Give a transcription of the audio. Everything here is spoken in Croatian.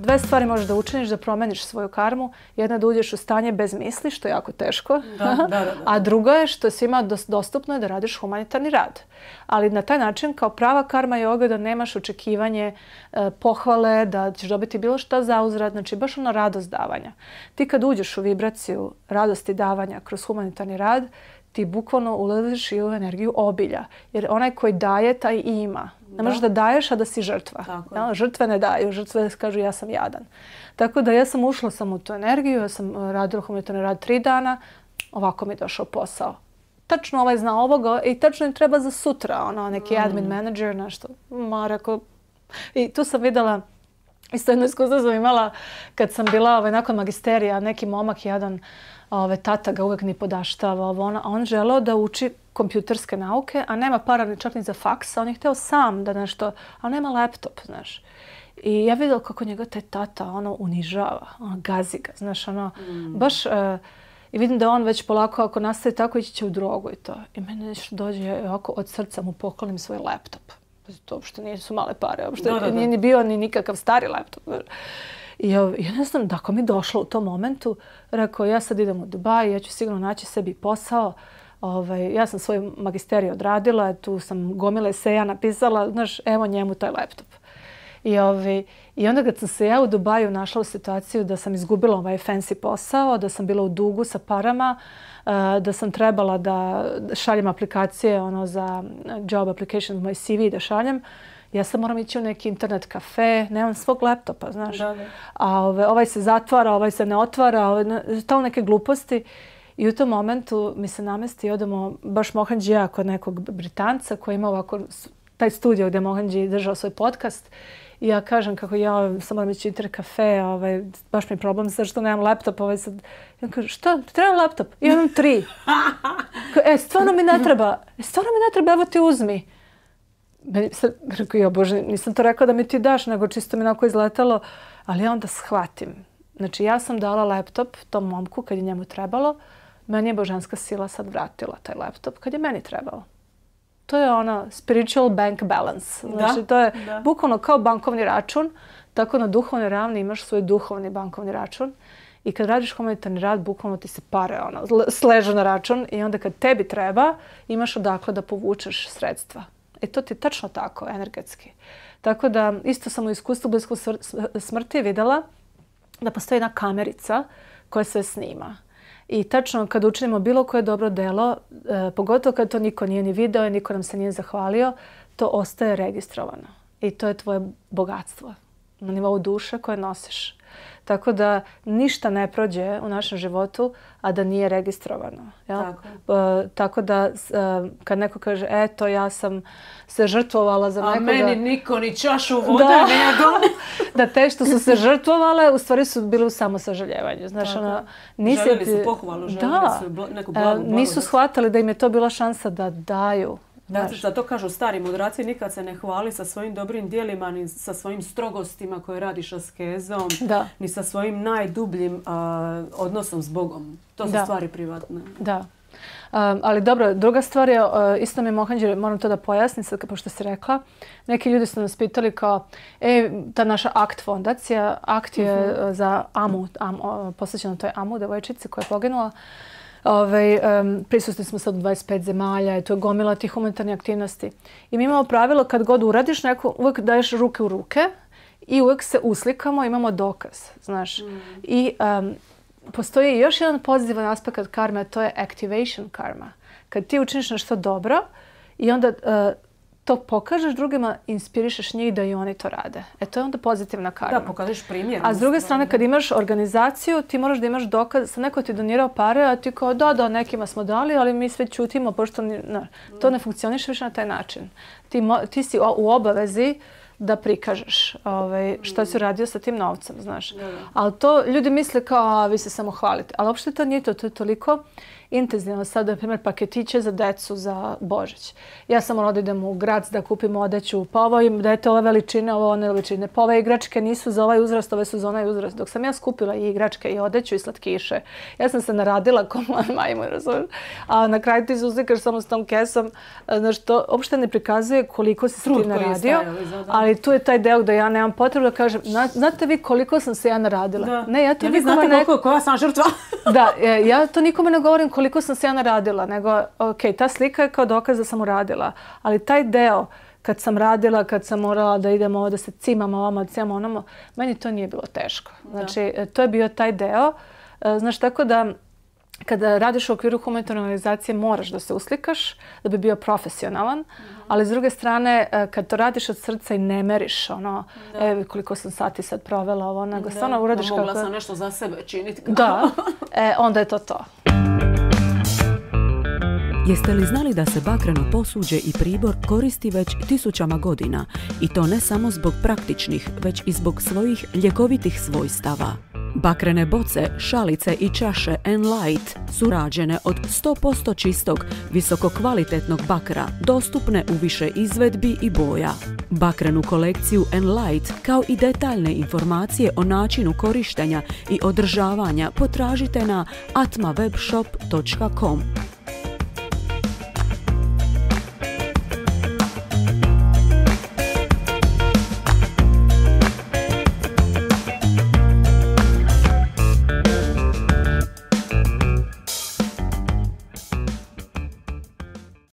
dve stvari možeš da učiniš da promeniš svoju karmu. Jedna je da uđeš u stanje bez misli, što je jako teško. A druga je što je svima dostupno je da radiš humanitarni rad. Ali na taj način, kao prava karma joga, da nemaš očekivanje pohvale, da ćeš dobiti bilo šta za uzvrat, znači baš ono radost davanja. Ti kad uđeš u vibraciju radosti davanja kroz humanitarni rad, ti bukvalno ulaziš i u energiju obilja. Jer onaj koji daje, taj i ima. Ne možeš da daješ, a da si žrtva. Žrtve ne daju. Žrtve kažu ja sam jadan. Tako da ja sam ušla u tu energiju. Ja sam radila humanitarni rad 3 dana. Ovako mi je došao posao. Tačno ovaj zna ovoga i tačno im treba za sutra. Neki admin manager, nešto. Rekao. I tu sam videla, isto jedno iskustvo sam imala kad sam bila nakon magisterija, neki momak jedan, tata ga uvek ni podaštava, a on želeo da uči kompjuterske nauke, a nema para ni čak ni za faks, a on je hteo sam da nešto, a nema laptop, znaš. I ja vidjela kako njega taj tata unižava, gazi ga, znaš, baš, i vidim da on već polako, ako nastavi tako, ići će u drogu i to. I meni nešto dođe, ovako od srca mu poklonim svoj laptop. To uopšte nisu male pare, uopšte nije ni bio ni nikakav stari laptop. I ja ne znam, tako mi došlo u tom momentu. Rekao, ja sad idem u Dubaj, ja ću sigurno naći sebi posao. Ja sam svoj magisterij odradila, tu sam gomile eseja napisala, znaš, evo njemu taj laptop. I onda kad sam se ja u Dubaju našla u situaciju da sam izgubila ovaj fancy posao, da sam bila u dugu sa parama, da sam trebala da šaljem aplikacije za job application, moj CV da šaljem, ja sad moram ići u neki internet kafe, nemam svog laptopa, znaš. A ovaj se zatvara, ovaj se ne otvara, to neke gluposti. I u tom momentu mi se namesti, odemo baš Mohanđija kod nekog Britanca koji ima ovako taj studio gdje Mohanđi držao svoj podcast. I ja kažem kako ja sam moram ići u internet kafe, baš mi je problem sad što nemam laptop. Ja kažem, šta? Ti treba laptop? Ja imam 3. Stvarno mi ne treba. Evo ti uzmi. Rekao, ja Bože, nisam to rekla da mi ti daš, nego čisto mi onako izletalo. Ali ja onda shvatim. Znači, ja sam dala laptop tom momku kad je njemu trebalo. Meni je božanska sila sad vratila taj laptop kad je meni trebalo. To je spiritual bank balance. Znači, to je bukvalno kao bankovni račun. Tako na duhovnoj ravni imaš svoj duhovni bankovni račun. I kad radiš humanitarni rad, bukvalno ti se pare sležu na račun. I onda kad tebi treba, imaš odakle da povučeš sredstva. To ti je tačno tako, energetski. Tako da, isto sam u iskustvu blisko smrti vidjela da postoji jedna kamerica koja sve snima. I tačno kad učinimo bilo koje dobro delo, pogotovo kad to niko nije ni video i niko nam se nije zahvalio, to ostaje registrovano. I to je tvoje bogatstvo na nivou duše koje nosiš. Tako da ništa ne prođe u našem životu, a da nije registrovano. Tako da kad neko kaže, eto, ja sam se žrtvovala za nekoga... A meni niko ni čašu vode ne dom. Da te što su se žrtvovale, u stvari su bili u samosažaljevanju. Željeli su pohvalu, željeli su neku blagu. Nisu shvatili da im je to bila šansa da daju. Zato kažu stari mudraci, nikad se ne hvali sa svojim dobrim dijelima, ni sa svojim strogostima koje radiš askezom, ni sa svojim najdubljim odnosom s Bogom. To su stvari privatne. Da. Ali dobro, druga stvar je, isto mi Mohanđi, moram to da pojasnim sad, pošto si rekla, neki ljudi su nas pitali kao, ta naša ACT fondacija, ACT je za Amu, posvećeno toj Amu, devojčici koja je poginula. Prisutni smo sad u 25 zemalja i to je gomila tih humanitarnih aktivnosti. I mi imamo pravilo kad god uradiš neko, uvijek daješ ruke u ruke i uvijek se uslikamo, imamo dokaz, znaš. I postoji još jedan pozitivan aspekt karme, a to je activation karma. Kad ti učiniš nešto dobro i onda to pokažeš drugima, inspirišeš njih da i oni to rade. To je onda pozitivna karma. Da, pokažeš primjer. A s druge strane, kad imaš organizaciju, ti moraš da imaš dokaz. Sad neko ti donirao pare, a ti kao da, nekima smo dali, ali mi sve ćutimo, pošto to ne funkcioniše više na taj način. Ti si u obavezi da prikažeš šta si radio sa tim novcem, znaš. Ali to ljudi misle kao, vi se samo hvalite. Ali uopšte to nije to, to je toliko intenzivno. Sad, na primjer, paketiće za decu za Božić. Ja sam morala da idem u grad da kupim odeću. Pa ovo im dajete ove veličine, ovo one veličine. Pa ove igračke nisu za ovaj uzrast, ove su za onaj uzrast. Dok sam ja skupila i igračke i odeću i slatkiše. Ja sam se naradila ko majmun, razumiješ. A na kraju ti se uslikaš samo s tom kesom. Znaš, to uopšte ne prikazuje koliko si se ti naradio. Ali tu je taj deo da ja nemam potrebu da kažem, znate vi koliko sam se ja naradila? Da. Ne, ja to vi znate koja sam žrtva? Da, ja to nikome ne govorim koliko sam se ja naradila, nego, ok, ta slika je kao dokaz da sam uradila, ali taj deo, kad sam radila, kad sam morala da idemo ovo, da se cimam ovamo, da cimam onamo, meni to nije bilo teško. Znači, to je bio taj deo. Znaš, tako da, kada radiš u okviru humanitarne organizacije, moraš da se uslikaš, da bi bio profesionalan, ali s druge strane, kad to radiš od srca i ne meriš, ono, koliko sam sati sad provela ovo, nego stvarno uradiš kako... Mogla sam nešto za sebe činiti. Da, onda je to to. Jeste li znali da se bakreno posuđe i pribor koristi već tisućama godina i to ne samo zbog praktičnih, već i zbog svojih ljekovitih svojstava? Bakrene boce, šalice i čaše Enlight su rađene od 100% čistog, visokokvalitetnog bakra, dostupne u više izvedbi i boja. Bakrenu kolekciju Enlight, kao i detaljne informacije o načinu korištenja i održavanja, potražite na atmawebshop.com.